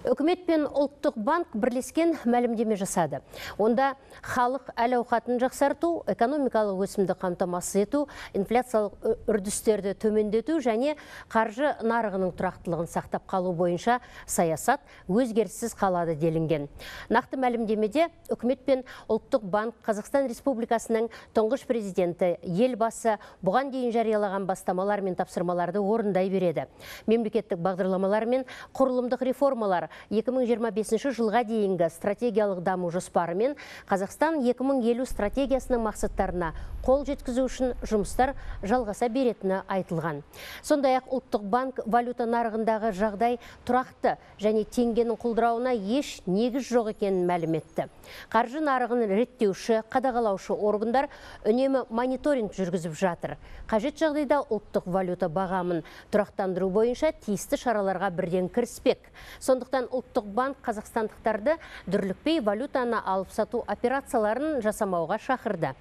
Үкімет пен ұлттық банк бірлескен мәлімдеме жасады. Онда халық әл-ауқатын жақсарту, экономикалық өсімді қамтамасыз ету, инфляциялық үрдістерді төмендету және қаржы нарығының тұрақтылығын сақтап қалу бойынша саясат өзгеріссіз қалады делінген. Нақты мәлімдемеде үкімет пен ұлттық банк Қазақстан Республикасының тұңғыш президенті елбасы бұған дейін жариялаған бастамалар мен тапсырмаларды орындай береді. Мемлекеттік бағдарламалар мен құрылымдық реформалар 2025 жылға дейінгі стратегиялық даму жоспары мен Қазақстан 2050 стратегиясының мақсаттарына қол жеткізу үшін жұмыстар жалғаса беретіні айтылған. Сондай-ақ ұлттық банк валюта нарығындағы жағдай тұрақты және теңгенің құлдырауына еш негіз жоқ екенін мәлім етті. Қаржы нарығын реттеуші, қадағалаушы органдар үнемі мониторинг жүргізіп жатыр. Қажет жағдайда ұлттық валюта бағамын тұрақтандыру бойынша тиісті шараларға бірден кіріспек. Сондықтан ұлттық банк қазақстандықтарды дүрлікпей валютаны алып сату операцияларын жасамауға шақырды.